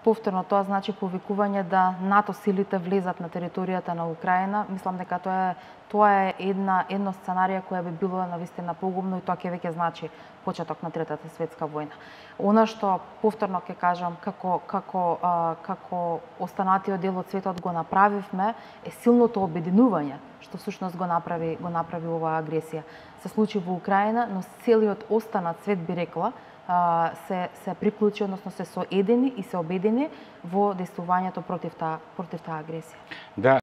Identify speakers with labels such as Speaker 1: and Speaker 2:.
Speaker 1: повторно тоа значи повикување да НАТО силите влезат на територијата на Украина. Мислам дека тоа е едно сценарија која би било навистина погубно и тоа ќе веќе значи почеток на Третата светска војна. Она што повторно ќе кажам како останатиот дел од светот го направивме е силното обединување што всушност го направи оваа агресија. Се случи во Украина, но целиот останат свет би рекла се приклучи, односно се соедини и се обедини во дејствувањето против таа агресија.
Speaker 2: Да.